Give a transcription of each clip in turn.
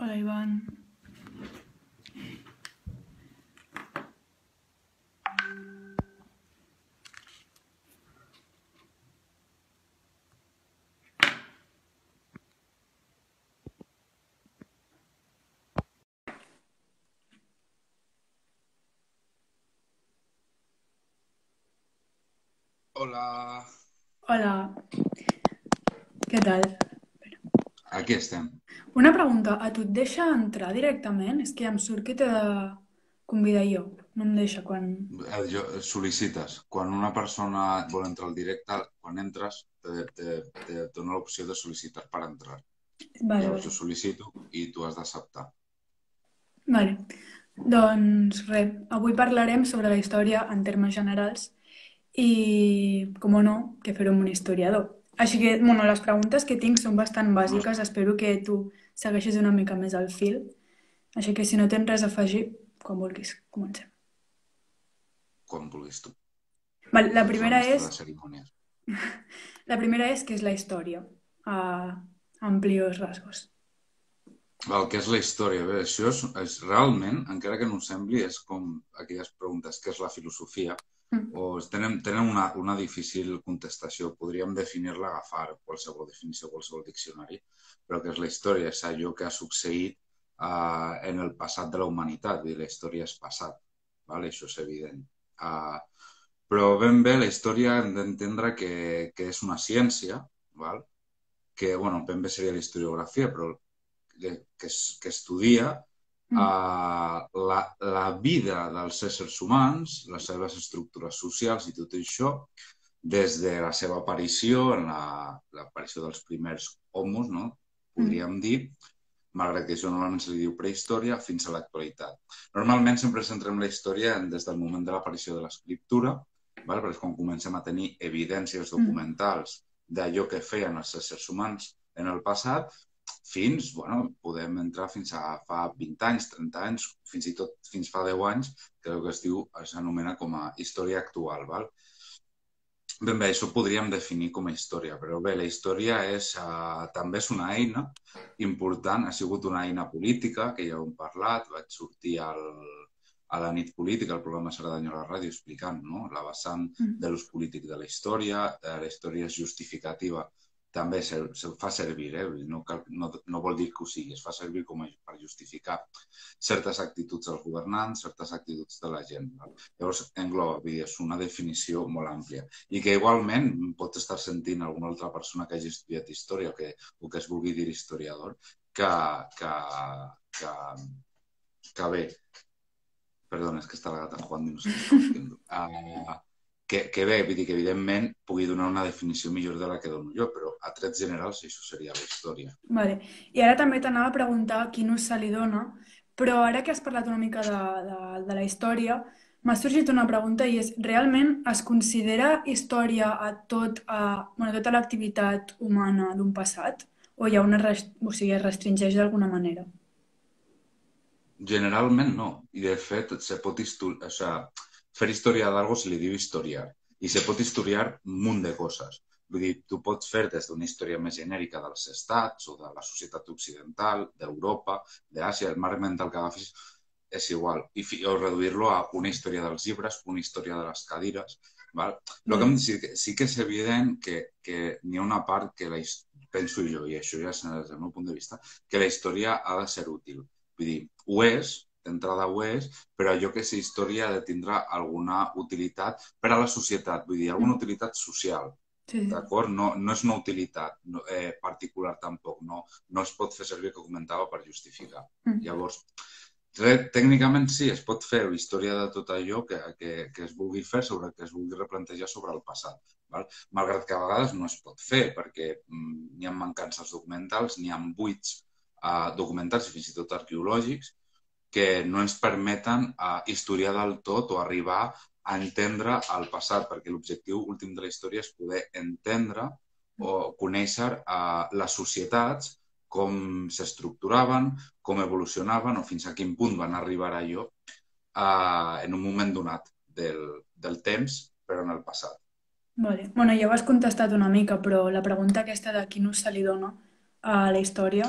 Hola, Iván. Hola, Hola, què tal? aquí estem. Una pregunta, a tu et deixa entrar directament? És que ja em surt que t'he de convidar jo. No em deixa quan... Sol·licites. Quan una persona vol entrar al directe, quan entres, te dona l'opció de sol·licitar per entrar. Vale, Llavors vale. jo sol·licito i tu has d'acceptar. Vale. Doncs res, avui parlarem sobre la història en termes generals i, com no, que fer-ho amb un historiador. Així que, bueno, les preguntes que tinc són bastant No és bàsiques, espero que tu segueixis una mica més al fil. Així que si no tens res a afegir, quan vulguis, comencem. quan vulguis tu. Vale, Tu ets la mestra de cerimònies. la primera és què és la història, a amplios rasgos. El que és la història, bé, això és realment, encara que no ho sembli, és com aquelles preguntes, què és la filosofia? Mm. O tenen una difícil contestació. Podríem definir-la, agafar qualsevol definició, qualsevol diccionari, però què és la història? És allò que ha succeït en el passat de la humanitat, vull dir, la història és passat, ¿vale? Això és evident. Uh, però ben bé la història hem d'entendre que és una ciència, val? Que, bueno, ben bé seria la historiografia, però que estudia Mm. la vida dels éssers humans, les seves estructures socials i tot això, des de la seva aparició, en l'aparició dels primers homos, no? Mm. Podríem dir, malgrat que això normalment se li diu prehistòria, fins a l'actualitat. Normalment sempre centrem la història des del moment de l'aparició de l'escriptura, perquè és quan comencem a tenir evidències Mm. documentals d'allò que feien els éssers humans en el passat, fins, bueno, podem entrar fins a fa 20 anys, 30 anys, fins i tot fins fa 10 anys, que el que s'anomena com a història actual. Val? Ben bé, això ho podríem definir com a història, però bé, la història també és una eina important, ha sigut una eina política, que ja ho hem parlat, vaig sortir a la nit política, al programa Cerdanya a la ràdio, explicant, no? La vessant Mm. de l'ús polític de la història és justificativa, també se fa servir, no vol dir que ho sigui, es fa servir per justificar certes actituds dels governants, certes actituds de la gent. No? Llavors, engloba, vull dir, és una definició molt àmplia i que igualment pot estar sentint alguna altra persona que hagi estudiat història o que es vulgui dir historiador, que, que, que, que bé, perdona, és que està la gata jugant i no sé què estava fent. Que bé, vull dir que evidentment pugui donar una definició millor de la que dono jo, però a trets generals això seria la història. Vale. I ara també t'anava a preguntar quin ús se li dona, però ara que has parlat una mica de la història, m'ha sorgit una pregunta i és, realment es considera història bueno, tota l'activitat humana d'un passat? O hi ha o sigui, es restringeix d'alguna manera? Generalment no. I de fet, o sea, fer història d'algo se li diu historiar. I se pot historiar un munt de coses. Vull dir, tu pots fer des d'una història més genèrica dels estats o de la societat occidental, d'Europa, d'Àsia, el marc mental que agafis és igual. O reduir-lo a una història dels llibres, una història de les cadires. Val? El que Vale. em sí que és evident que n'hi ha una part que penso jo, i això ja és des del meu punt de vista, que la història ha de ser útil. Vull dir, ho és, d'entrada ho és, però allò que és història ha de tindre alguna utilitat per a la societat, vull dir, alguna Mm. utilitat social, Sí, sí. d'acord? No és una utilitat particular tampoc, no es pot fer servir, que comentava, per justificar. Mm. Llavors, tècnicament sí, es pot fer història de tot allò que es vulgui fer, sobre que es vulgui replantejar sobre el passat. Val? Malgrat que a vegades no es pot fer, perquè n'hi ha mancances documentals, n'hi ha buits documentals i fins i tot arqueològics que no ens permeten historiar del tot o arribar a entendre el passat, perquè l'objectiu últim de la història és poder entendre o conèixer les societats, com s'estructuraven, com evolucionaven o fins a quin punt van arribar a allò en un moment donat del temps, però en el passat. Vale. Bueno, ja ho has contestat una mica, però la pregunta aquesta de quin ús se li dona a la història.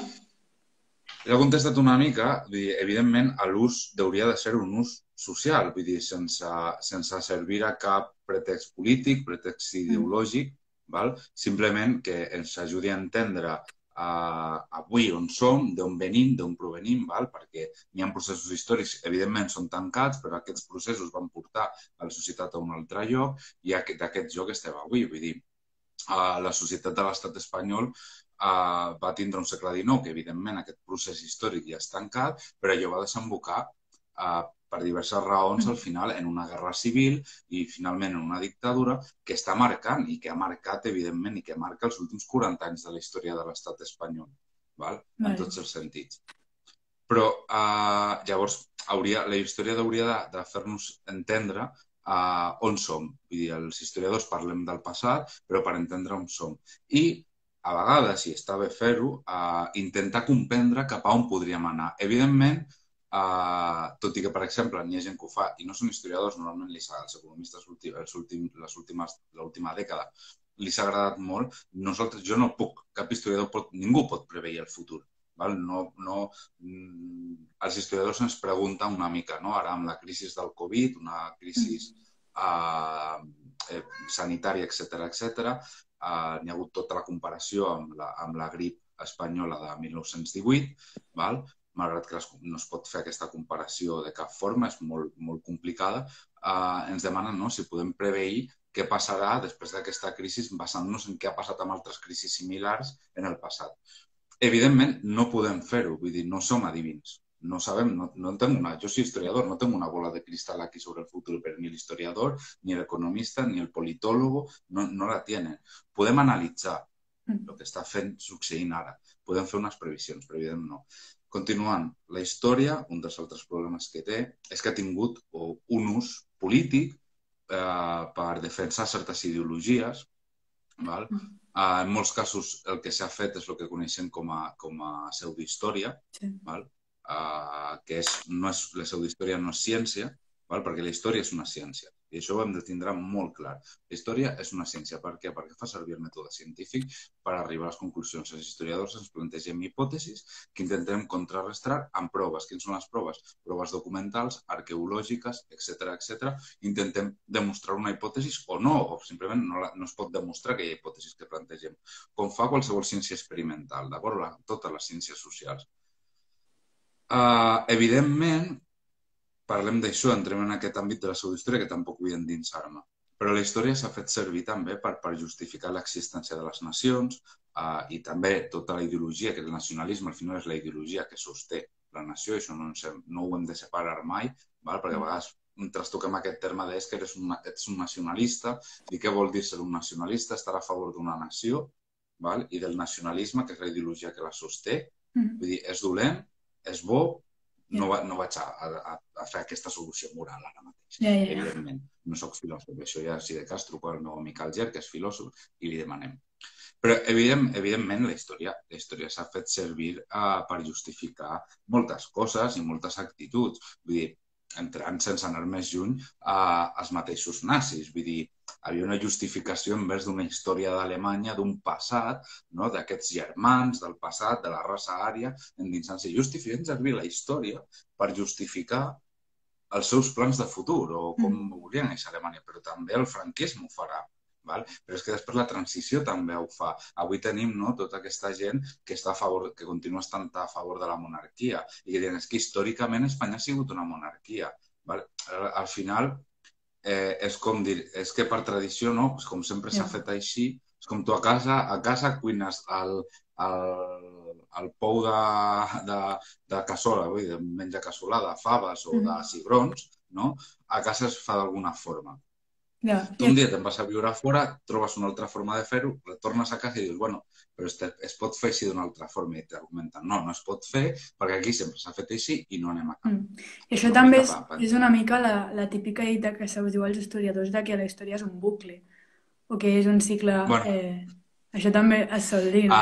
Ja he contestat una mica, vull dir, evidentment, l'ús hauria de ser un ús social, vull dir, sense servir a cap pretext polític, pretext Mm. ideològic, val? Simplement que ens ajudi a entendre avui on som, d'on venim, d'on provenim, val? Perquè hi ha processos històrics, evidentment són tancats, però aquests processos van portar a la societat a un altre lloc i d'aquest lloc estem avui, vull dir, la societat de l'estat espanyol va tindre un segle XIX, que evidentment aquest procés històric ja és tancat, però allò va desembocar per diverses raons al final en una guerra civil i finalment en una dictadura que està marcant i que ha marcat evidentment i que marca els últims 40 anys de la història de l'estat espanyol, val? En Vale. tots els sentits. Però llavors la història hauria de fer-nos entendre on som. Vull dir, els historiadors parlem del passat, però per entendre on som. I a vegades, si està bé fer-ho, intentar comprendre cap a on podríem anar. Evidentment, tot i que, per exemple, n'hi ha gent que ho fa i no són historiadors, normalment els economistes l'última dècada li s'ha agradat molt. Jo no puc, cap historiador, ningú pot preveir el futur. Val? Els historiadors ens pregunten una mica, no? Ara amb la crisi del Covid, una crisi sanitària, etc, n'hi ha hagut tota la comparació amb la grip espanyola de 1918, val? Malgrat que no es pot fer aquesta comparació de cap forma, és molt, molt complicada, ens demanen si podem preveir què passarà després d'aquesta crisi basant-nos en què ha passat amb altres crisis similars en el passat. Evidentment, no podem fer-ho, vull dir, no som adivins. No sabem, jo soy historiador, no tengo una bola de cristal aquí sobre el futuro, pero ni el historiador, ni el economista, ni el politólogo no la tienen. Podem analitzar el que està succeint ara. Podem fer unes previsions, però evidentment no. Continuant, la història, un dels altres problemes que té, és que ha tingut un ús polític per defensar certes ideologies, val? En molts casos el que s'ha fet és el que coneixem com a pseudohistòria, Sí. val? Que la pseudohistòria no és ciència, val? Perquè la història és una ciència. I això ho hem de tindre molt clar. La història és una ciència. Per què? Perquè fa servir el mètode científic per arribar a les conclusions. Els historiadors ens plantegem hipòtesis que intentem contrarrestar amb proves. Quines són les proves? Proves documentals, arqueològiques, etc. Intentem demostrar una hipòtesi o no, o simplement no es pot demostrar aquella hipòtesi que plantegem. Com fa qualsevol ciència experimental, d'acord? Totes les ciències socials. Evidentment, parlem d'això, entrem en aquest àmbit de la pseudohistòria que tampoc vull endinsar-me. Però la història s'ha fet servir també per justificar l'existència de les nacions i també tota la ideologia, que el nacionalisme al final és la ideologia que sosté la nació, i això no ho hem de separar mai, val? Perquè a vegades trastoquem aquest terme de que ets un nacionalista, i què vol dir ser un nacionalista? Estar a favor d'una nació, val? I del nacionalisme, que és la ideologia que la sosté. Vull dir, és dolent, és bo, no vaig a fer aquesta solució moral ara mateix. Evidentment, no soc filòsof. Això ja, si de cas, truco al meu amic Alger, que és filòsof, i li demanem. Però, evidentment, la història s'ha fet servir per justificar moltes coses i moltes actituds. Vull dir, entrant sense anar més lluny als mateixos nazis. Vull dir, hi havia una justificació envers d'una història d'Alemanya, d'un passat, no? D'aquests germans del passat, de la raça ària, endinsant-se. Justifiquen servir la història per justificar els seus plans de futur o com volien néixer a Alemanya, però també el franquisme ho farà. Val? Però és que després la transició també ho fa. Avui tenim tota aquesta gent que està a favor, que continua estant a favor de la monarquia i que diuen que històricament Espanya ha sigut una monarquia. Val? Al final és com dir, és que per tradició, no? Pues com sempre s'ha fet així, és com tu a casa cuines el pou de cassola, vull dir, de menjar cassolada, faves o de cigrons, no? A casa es fa d'alguna forma. Tu un dia te'n vas a viure a fora, trobes una altra forma de fer-ho, retornes a casa i dius, bueno, però es pot fer així d'una altra forma, i t'argumenten, no es pot fer perquè aquí sempre s'ha fet així i no anem a cap. I això també és una mica la típica dita que se'ls diu als historiadors de que la història és un bucle o que és un cicle... Això també es sol dir, no?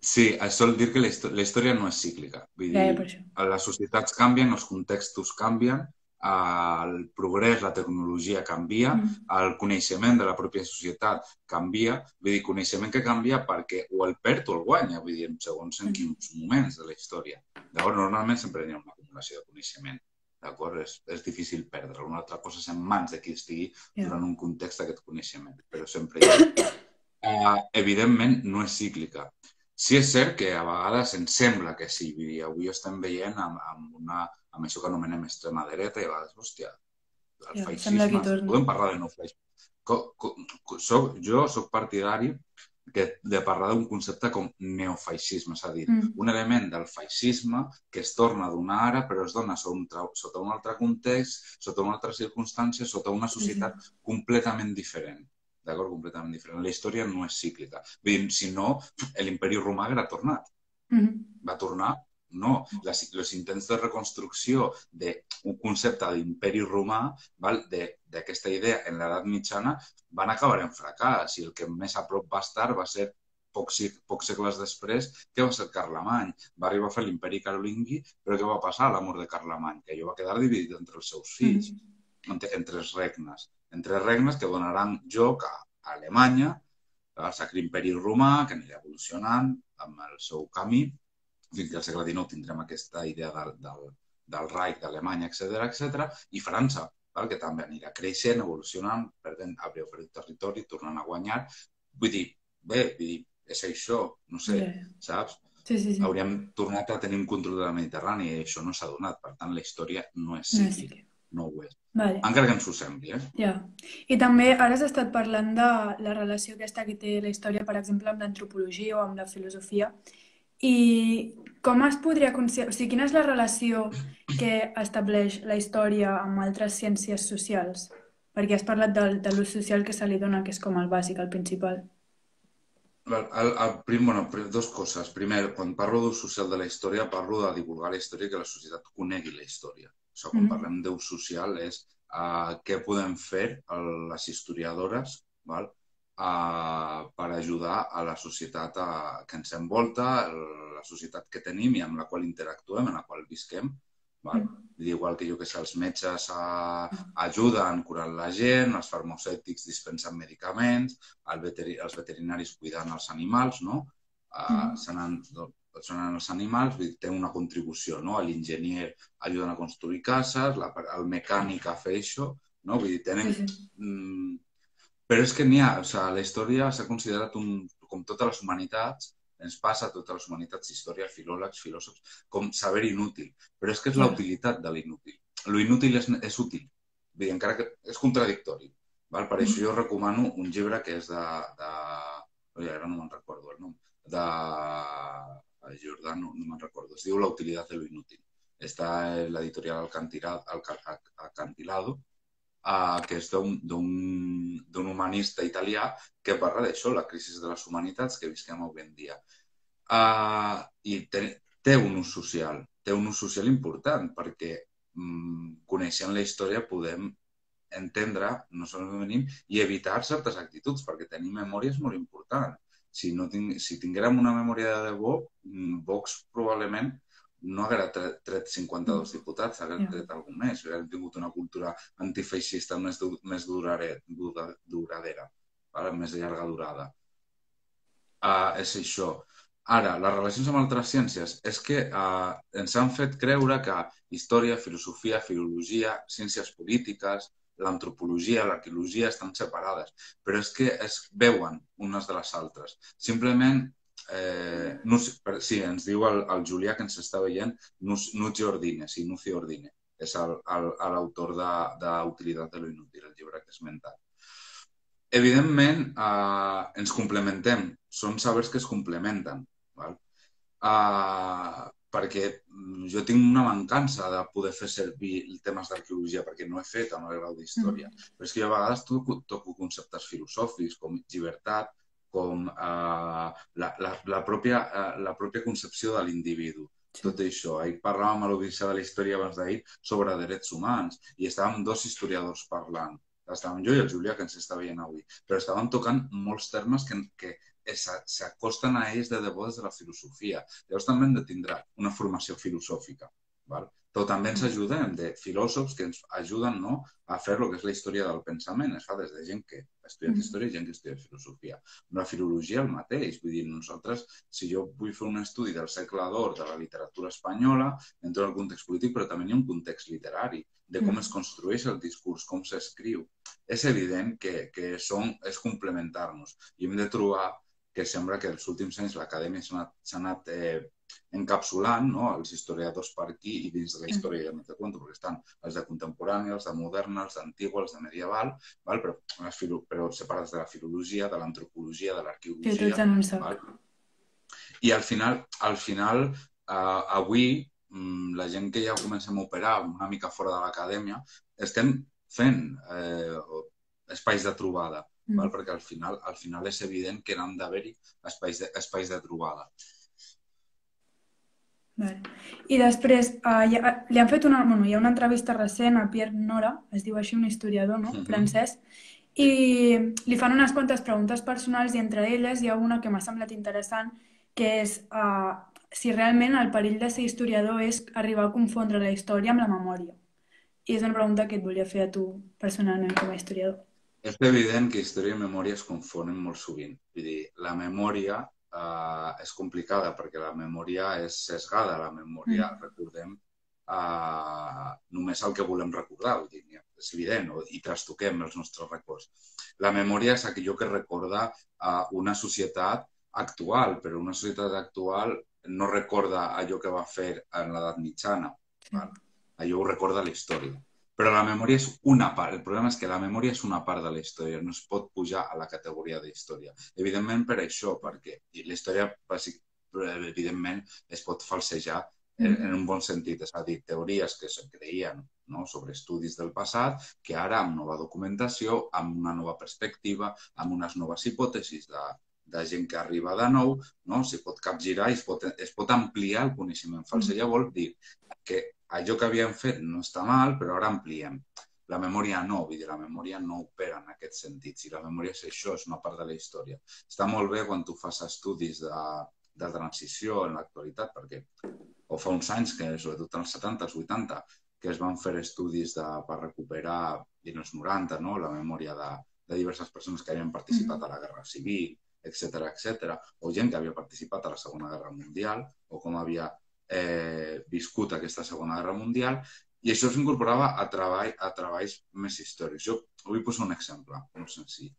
Sí, es sol dir que la història no és cíclica. Vull dir, les societats canvien, els contextos canvien, el progrés, la tecnologia canvia, el coneixement de la pròpia societat canvia, vull dir, coneixement que canvia perquè o el perd o el guanya, vull dir, segons en quins moments de la història. Llavors, normalment sempre hi ha una acumulació de coneixement, d'acord? És difícil perdre. Una altra cosa és en mans de qui estigui durant un context d'aquest coneixement, però sempre hi ha. Evidentment, no és cíclica. Sí és cert que a vegades ens sembla que sí, vull dir, avui estem veient amb això que anomenem extrema dreta i a vegades, hòstia, el feixisme, podem parlar de no feixisme. Jo soc partidari de parlar d'un concepte com neofeixisme, és a dir, un element del feixisme que es torna a donar ara però es dona sota un altre context, sota una altra circumstància, sota una societat completament diferent. D'acord? Completament diferent. La història no és cíclica. Si no, l'imperi romà haguera tornat. Va tornar? No. Els intents de reconstrucció d'un concepte d'imperi romà, d'aquesta idea en l'edat mitjana, van acabar en fracàs i el que més a prop va estar va ser pocs segles després, que va ser Carlemany. Va arribar a fer l'imperi carolingui, però què va passar a la mort de Carlemany? Que allò va quedar dividit entre els seus fills, entre els regnes. Entre regnes que donaran joc a Alemanya, al Sacre Imperi Romà, que anirà evolucionant amb el seu camí. Fins que al segle XIX tindrem aquesta idea del Reich d'Alemanya, etc. I França, que també anirà creixent, evolucionant, perdent territori, tornant a guanyar. Vull dir, és això, no sé, saps? Hauríem tornat a tenir un control de la Mediterrània i això no s'ha donat. Per tant, la història no és cíclica. No ho és. Encara que ens ho sembli, I també ara has estat parlant de la relació aquesta que té la història, per exemple, amb l'antropologia o amb la filosofia. I com es podria considerar... O sigui, quina és la relació que estableix la història amb altres ciències socials? Perquè has parlat de l'ús social que se li dona, que és com el bàsic, el principal. Dos coses. Primer, quan parlo d'ús social de la història, parlo de divulgar la història i que la societat conegui la història. Quan parlem d'ús social és què podem fer les historiadores per ajudar a la societat que ens envolta, la societat que tenim i amb la qual interactuem, en la qual visquem. Igual que els metges ajuden curant la gent, els farmacèutics dispensen medicaments, els veterinaris cuidant els animals, són els animals, té una contribució, l'enginyer ajudant a construir cases, el mecànic a fer això, vull dir, tenen... Però és que n'hi ha, la història s'ha considerat com totes les humanitats, ens passa a totes les humanitats, història, filòlegs, filòsofs, com saber inútil. Però és que és la utilitat de l'inútil. Lo inútil és útil, vull dir, encara que és contradictori. Per això jo recomano un llibre que és ara no me'n recordo el nom, de Jordà, no me'n recordo, es diu La utilitat de lo inútil. Està en l'editorial Acantilado, que és d'un humanista italià que parla d'això, la crisi de les humanitats que visquem avui en dia. I té un ús social important, perquè coneixent la història podem entendre no solament venim i evitar certes actituds, perquè tenir memòria és molt important. Si tinguérem una memòria de debò, Vox probablement no haguera tret 52 diputats, haguera tret algun més, haguera tingut una cultura antifeixista més duradera, més de llarga durada. És això. Ara, les relacions amb altres ciències és que ens han fet creure que història, filosofia, filologia, ciències polítiques, l'antropologia, l'arqueologia estan separades, però és que es veuen unes de les altres. Simplement, sí, ens diu el Julià que ens està veient, Nucci Ordine, sí, Nucci Ordine, és l'autor d'Utilitat de lo inútil, el llibre que he esmentat. Evidentment, ens complementem, són sabers que es complementen, perquè jo tinc una mancança de poder fer servir temes d'arqueologia perquè no he fet amb el grau d'història, però és que jo a vegades toco conceptes filosòfics com llibertat, com la pròpia concepció de l'individu. Tot això. Ahir parlàvem a l'Odissea de la història abans d'ahir sobre drets humans i estàvem dos historiadors parlant. Estàvem jo i el Julià, que ens està veient avui, però estàvem tocant molts termes que s'acosten a ells de debò des de la filosofia. Llavors també hem de tindre una formació filosòfica. però també ens ajudem de filòsofs que ens ajuden, no, a fer el que és la història del pensament. Es fa des de gent que ha estudiat història i gent que estudia filosofia. Amb la filologia el mateix. Vull dir, nosaltres, si jo vull fer un estudi del segle d'or de la literatura espanyola, entro en el context polític, però també hi ha un context literari, de com es construeix el discurs, com s'escriu. És evident que és complementar-nos i hem de trobar que sembla que els últims anys l'acadèmia s'ha anat encapsulant, no, els historiadors per aquí i dins de la història ja no te conto, perquè estan els de contemporània, els de moderna, els d'antigua, els de medieval, val? Però separats de la filologia, de l'antropologia, de l'arqueologia. I al final avui, la gent que ja comencem a operar una mica fora de l'acadèmia, estem fent espais de trobada, perquè al final és evident que n'han d'haver-hi espais de trobada. I després li han fet hi ha una entrevista recent a Pierre Nora, es diu així, un historiador, no? Francès, i li fan unes quantes preguntes personals i entre elles hi ha una que m'ha semblat interessant, que és si realment el perill de ser historiador és arribar a confondre la història amb la memòria. I és una pregunta que et volia fer a tu personalment com a historiador. És evident que història i memòria es confonen molt sovint. Vull dir, la memòria és complicada perquè la memòria és sesgada. La memòria, recordem, només el que volem recordar. Vull dir, és evident, i trastoquem els nostres records. La memòria és allò que recorda una societat actual, però una societat actual no recorda allò que va fer en l'edat mitjana. Allò ho recorda la història. Però la memòria és una part. El problema és que la memòria és una part de la història, no es pot pujar a la categoria d'història. Evidentment per això, perquè la història, evidentment, es pot falsejar en un bon sentit. És a dir, teories que es creien sobre estudis del passat, que ara, amb nova documentació, amb una nova perspectiva, amb unes noves hipòtesis de gent que arriba de nou, s'hi pot capgirar i es pot ampliar el coneixement. Falsejar vol dir que allò que havíem fet no està mal, però ara ampliem. La memòria no, vull dir, la memòria no opera en aquest sentit. Si la memòria és això, és una part de la història. Està molt bé quan tu fas estudis de transició en l'actualitat, perquè fa uns anys, que sobretot en els 70, els 80, que es van fer estudis per recuperar, en els 90, la memòria de diverses persones que havien participat a la Guerra Civil, etc., o gent que havia participat a la Segona Guerra Mundial, o com havia viscut aquesta Segona Guerra Mundial, i això s'incorporava a treballs més històrics. Jo vull posar un exemple molt senzill.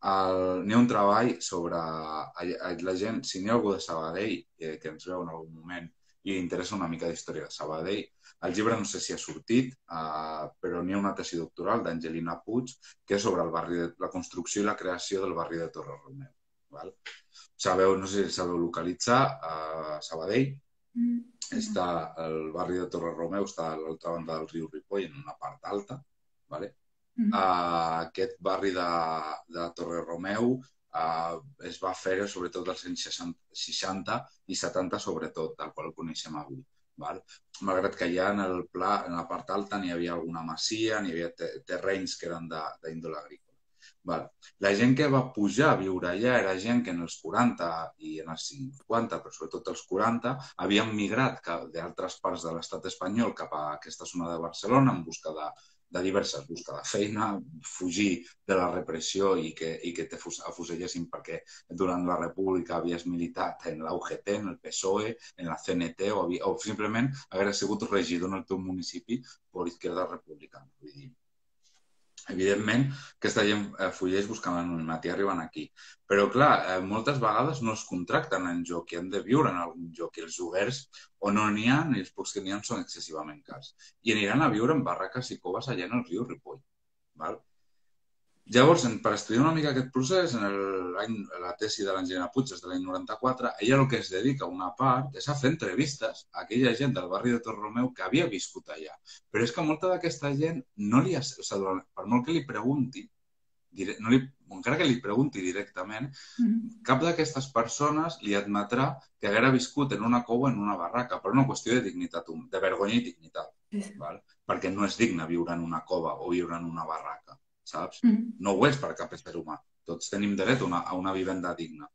N'hi ha un treball sobre la gent, si n'hi ha algú de Sabadell que ens veu en algun moment i interessa una mica d'història de Sabadell, el llibre no sé si ha sortit, però n'hi ha una tesi doctoral d'Angelina Puig que és sobre la construcció i la creació del barri de Torre-Romeu. No sé si sabeu localitzar Sabadell. Està el barri de Torre-Romeu, està a l'altra banda del riu Ripoll, en una part alta. Aquest barri de Torre-Romeu es va fer sobretot als anys 60 i 70, sobretot, tal qual el coneixem avui. Malgrat que allà en la part alta n'hi havia alguna masia, n'hi havia terrenys que eren d'índole agrícola. La gent que va pujar a viure allà era gent que en els 40 i en els 50, però sobretot els 40, havien migrat d'altres parts de l'estat espanyol cap a aquesta zona de Barcelona en busca de feina, fugir de la repressió i que t'afusellessin perquè durant la República havies militat en la UGT, en el PSOE, en la CNT o simplement haver sigut regidor en el teu municipi per Izquierda Republicana. Vull dir, evidentment, aquesta gent fugeix buscant l'anonimat i arriben aquí. Però, clar, moltes vegades no es contracten en joc i han de viure en algun joc i els lloguers o no n'hi ha i els pocs que n'hi ha són excessivament cars. I aniran a viure en barraques i coves allà en el riu Ripoll. Llavors, per estudiar una mica aquest procés, la tesi de l'Angelina Puig és de l'any 94, ella el que es dedica una part és a fer entrevistes a aquella gent del barri de Torre-Romeu que havia viscut allà. Però és que molta d'aquesta gent, per molt que li pregunti, encara que li pregunti directament, cap d'aquestes persones li admetrà que haguera viscut en una cova o en una barraca, per una qüestió de dignitat, de vergonya i dignitat. Perquè no és digne viure en una cova o viure en una barraca. Saps? No ho és per cap ésser humà. Tots tenim dret a una vivenda digna.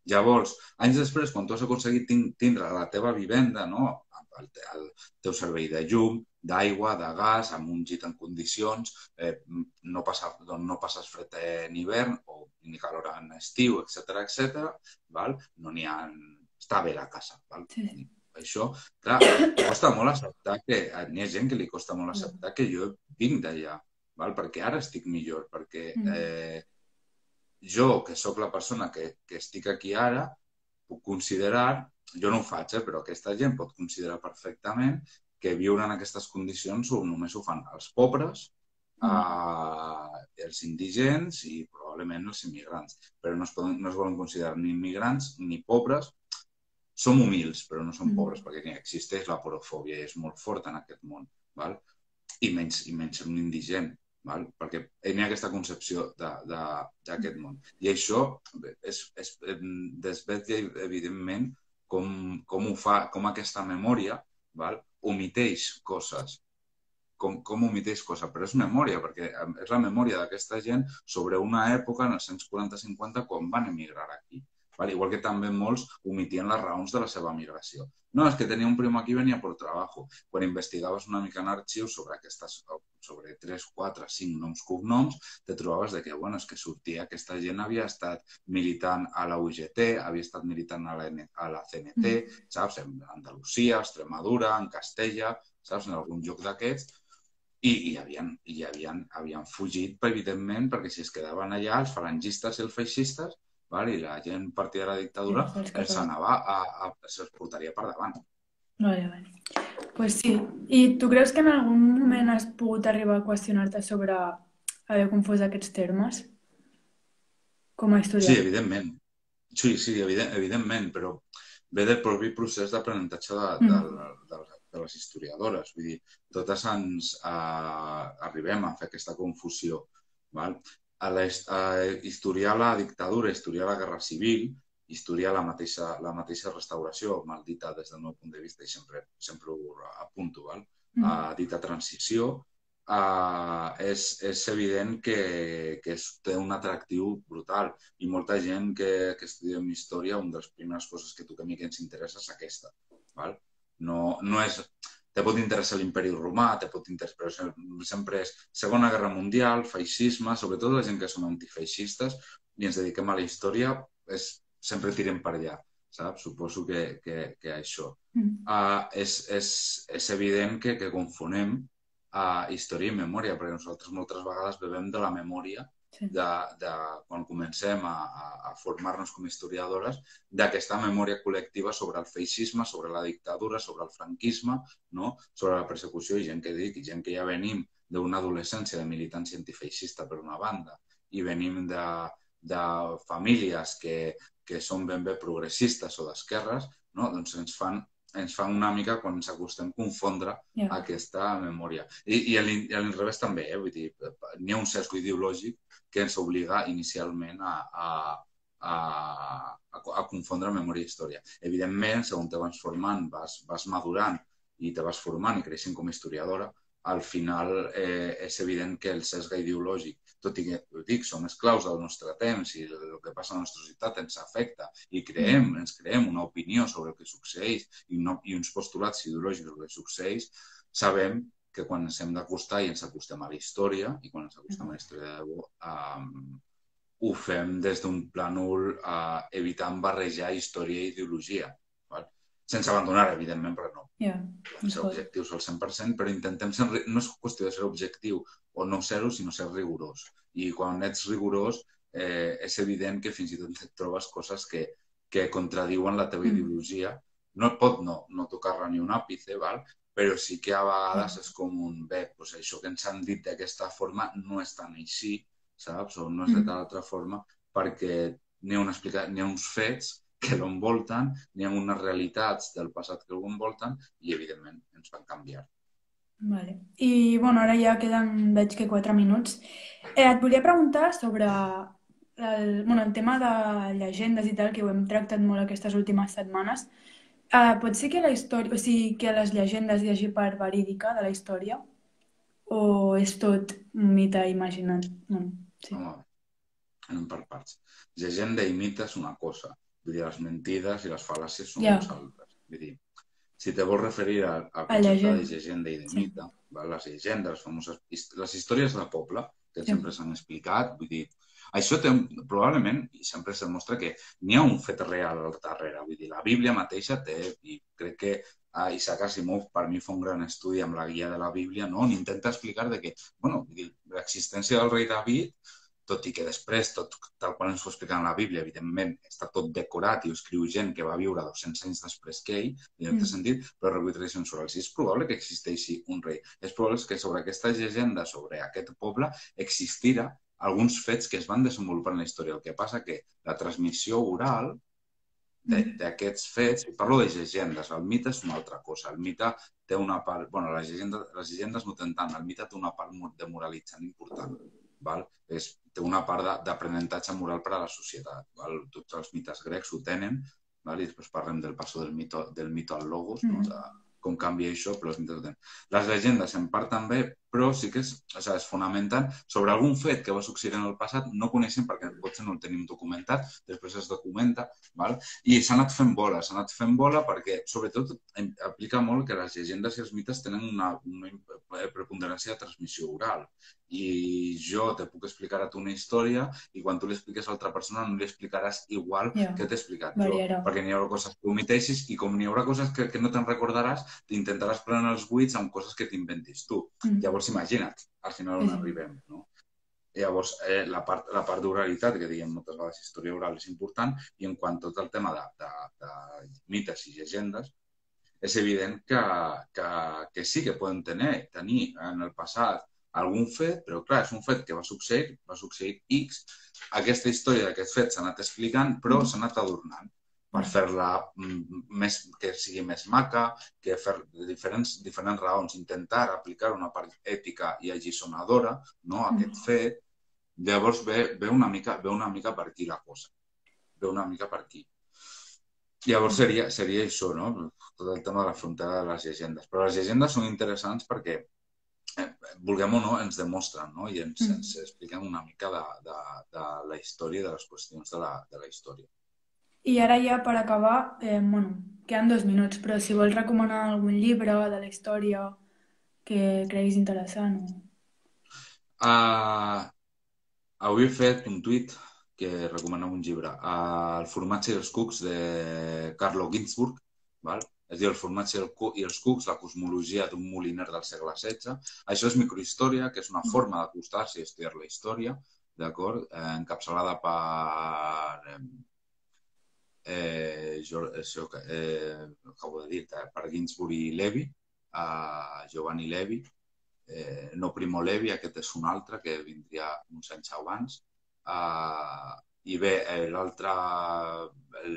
Llavors, anys després, quan tu has aconseguit tindre la teva vivenda, el teu servei de llum, d'aigua, de gas, amb un llit en condicions, no passes fred en hivern o ni calor en estiu, etc. No n'hi ha... Està bé la casa. Val? Sí. Això, clar, costa molt acceptar que... N'hi ha gent que li costa molt acceptar que jo vinc d'allà, perquè ara estic millor, perquè jo, que sóc la persona que estic aquí ara, puc considerar, jo no ho faig, però aquesta gent pot considerar perfectament que viure en aquestes condicions només ho fan els pobres, els indigents i probablement els immigrants. Però no es volen considerar ni immigrants ni pobres. Som humils, però no som pobres, perquè existeix la porofòbia i és molt forta en aquest món. I menys ser un indigent, perquè hi ha aquesta concepció d'aquest món. I això desvetlla, evidentment, com aquesta memòria omiteix coses. Com omiteix coses, però és memòria, perquè és la memòria d'aquesta gent sobre una època, en els 140-50, quan van emigrar aquí. Igual que també molts omitien les raons de la seva migració. No, és que tenia un primo aquí i venia per treball. Quan investigaves una mica en arxius sobre 3, 4, 5 noms, cognoms, te trobaves que, és que sortia, aquesta gent havia estat militant a la UGT, havia estat militant a la CNT, saps? En Andalusia, Extremadura, en Castella, saps? En algun lloc d'aquests. I havien fugit, evidentment, perquè si es quedaven allà, els falangistes i els feixistes, i la gent partida de la dictadura se'ls portaria per davant. Vale. Pues sí. I tu creus que en algun moment has pogut arribar a qüestionar-te sobre haver confós aquests termes? Com a historiador? Sí, evidentment. Sí, evidentment, però ve del propi procés d'aprenentatge de les historiadores. Vull dir, totes ens arribem a fer aquesta confusió. A historiar la dictadura, historiar la guerra civil, historiar la mateixa restauració, maldita des del meu punt de vista, i sempre ho apunto, dita transició, és evident que té un atractiu brutal. I molta gent que estudiem història, una de les primeres coses que a mi ens interessa és aquesta. No és... Te pot interessar l'imperi romà, però sempre és Segona Guerra Mundial, feixisme, sobretot la gent que som antifeixistes i ens dediquem a la història, sempre tirem per allà, saps? Suposo que això. És evident que confonem història i memòria, perquè nosaltres moltes vegades bevem de la memòria quan comencem a formar-nos com historiadores, d'aquesta memòria col·lectiva sobre el feixisme, sobre la dictadura, sobre el franquisme, sobre la persecució, i gent que ja venim d'una adolescència de militància antifeixista per una banda, i venim de famílies que són ben bé progressistes o d'esquerres, doncs ens fan una mica, quan ens acostem, confondre aquesta memòria. I a l'inrevés també, vull dir, n'hi ha un sesgo ideològic que ens obliga inicialment a confondre memòria i història. Evidentment, segons te vas formant, vas madurant i te vas formant i creixent com a historiadora, al final és evident que el sesgo ideològic, tot i que, ho dic, som esclaus del nostre temps i el que passa a la nostra societat ens afecta i ens creem una opinió sobre el que succeeix i uns postulats ideològics sobre el que succeeix, sabem que quan ens hem d'acostar i ens acostem a la història, i quan ens acostem a la història de debò, ho fem des d'un plànol evitant barrejar història i ideologia. Sense abandonar, evidentment, perquè no ser objectius al 100%, però intentem ser... No és qüestió de ser objectiu o no ser-ho, sinó ser rigorós. I quan ets rigorós, és evident que fins i tot et trobes coses que contradiuen la teva ideologia. No et pot no tocar-la ni un àpice, però sí que a vegades és com un bé, això que ens han dit d'aquesta forma no és tan així, saps? O no és de tal altra forma, perquè n'hi ha uns fets que l'envolten, n'hi ha unes realitats del passat que l'envolten i, evidentment, ens van canviar. Vale. I, ara ja queden, veig que 4 minuts. Et volia preguntar sobre el tema de llegendes i tal, que ho hem tractat molt aquestes últimes setmanes. Pot ser que la història, o sigui, que les llegendes hi hagi part verídica de la història? O és tot un mite imaginat? Home, anem per parts. Llegenda i mite és una cosa. Vull dir, les mentides i les fal·làcies són unes altres. Vull dir, Si te vols referir al A concepte de llegenda. llegenda i de Sí, mite, val? Les llegendes, les famoses, les històries de poble, que sí. sempre s'han explicat, vull dir, això té, probablement, i sempre es demostra que n'hi ha un fet real al darrere, vull dir, la Bíblia mateixa té, i crec que Isaac Asimov per mi fa un gran estudi amb la guia de la Bíblia, no? On intenta explicar de que, bueno, vull dir, l'existència del rei David, tot i que després, tot tal qual ens ho explica en la Bíblia, evidentment, està tot decorat i ho escriu gent que va viure 200 anys després que ell, en aquest sentit, però recull tradicions orals. I és probable que existeixi un rei. És probable que sobre aquesta llegenda, sobre aquest poble, existira alguns fets que es van desenvolupar en la història. El que passa que la transmissió oral d'aquests fets, i parlo de llegendes, el mite és una altra cosa. El mite té una part... bueno, les llegendes no tenen tant, el mite té una part de moralitzant important. Val? Té una part d'aprenentatge moral per a la societat. Val? Tots els mites grecs ho tenen, val? I després parlem del passo del mito al logos, no? De com canvia això, però els mites ho tenen. Les llegendes, en part també, però sí que es fonamenten sobre algun fet que va succeir en el passat, no coneixem perquè potser no el tenim documentat, després es documenta, val? I s'ha anat fent bola perquè, sobretot, aplica molt que les llegendes i els mites tenen una preponderància de transmissió oral. I jo te puc explicar a tu una història i quan tu l'expliques a altra persona no li explicaràs igual que t'he explicat jo, perquè n'hi haurà coses que omiteixis i com n'hi haurà coses que no te'n recordaràs, t'intentaràs plenar els buits amb coses que t'inventis tu. Llavors, imagina't, al final on arribem, no? Llavors, la part d'oralitat, que diguem moltes vegades història oral és important, i en quant a tot el tema de mites i llegendes, és evident que sí que poden tenir en el passat algun fet, però clar, és un fet que va succeir X. Aquesta història d'aquest fet s'ha anat explicant, però s'ha anat adornant per fer-la que sigui més maca, que fer diferents raons, intentar aplicar una part ètica i alliçonadora, no, a aquest fet. Llavors ve una mica per aquí la cosa. Ve una mica per aquí. Llavors seria això, no? Tot el tema de la frontera de les llegendes. Però les llegendes són interessants perquè, vulguem o no, ens demostren, no? I ens expliquen una mica de la història i de les qüestions de la història. I ara ja per acabar, queden 2 minuts, però si vols recomanar algun llibre de la història que creguis interessant. Avui he fet un tuit que recomana un llibre, El formatge i els cucs de Carlo Ginzburg, val? Es diu El formatge i els cucs, la cosmologia d'un moliner del segle XVI. Això és microhistòria, que és una forma d'acostar-se i estudiar la història, d'acord? Encapçalada per acabo de dir, per Ginzburg i Levi, Giovanni Levi, no Primo Levi, aquest és un altre que vindria uns anys abans. I bé, l'altre, el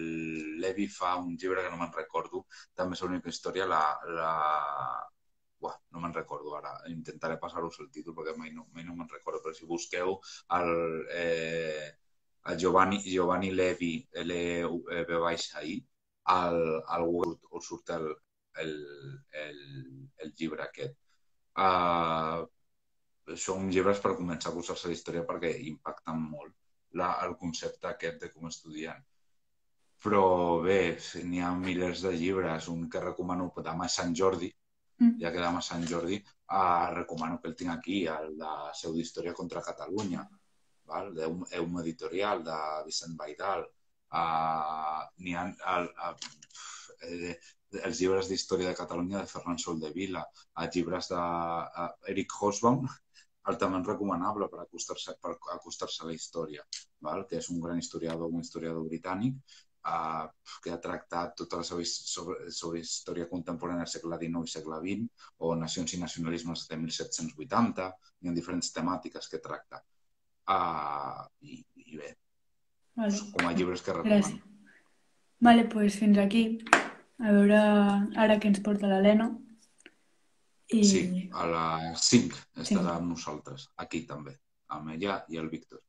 Levi fa un llibre que no me'n recordo, també és l'única història, no me'n recordo ara, intentaré passar-vos el títol perquè mai no me'n recordo, però si busqueu el Giovanni Levi, L-E-V-I, al Google us surt el llibre aquest. Són llibres per començar a cursar-se la història perquè impacten molt el concepte aquest de com estudiant. Però bé, n'hi ha milers de llibres. Un que recomano demà Sant Jordi, ja que demà Sant Jordi, recomano que el tinc aquí, el de Seu d'Història contra Catalunya, d'Eum Editorial, de Vicent Baidal. N'hi ha els llibres d'història de Catalunya de Ferran Soldevila, els llibres d'Eric Hobsbawm, altament recomanable per acostar-se a la història, que és un gran historiador, un historiador britànic, que ha tractat tota la seva sobre història contemporània del segle XIX i segle XX, o nacions i nacionalismes de 1780, hi ha diferents temàtiques que tracta. I bé, com a llibres que recomano. Vale, doncs fins aquí. A veure ara què ens porta l'Helena. Sí, a les 5 estarà amb nosaltres, aquí també, amb ella i el Víctor.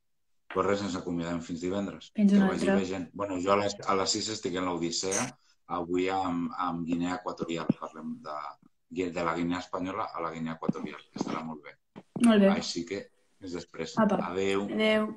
Però res, ens acomiadem fins divendres. Fins una altra. Bueno, jo a les 6 estic en l'Odissea, avui amb Guinea Equatorial. Parlem de la Guinea Espanyola a la Guinea Equatorial, que estarà molt bé. Molt bé. Així que, fins després. Apa. Adéu. Adéu.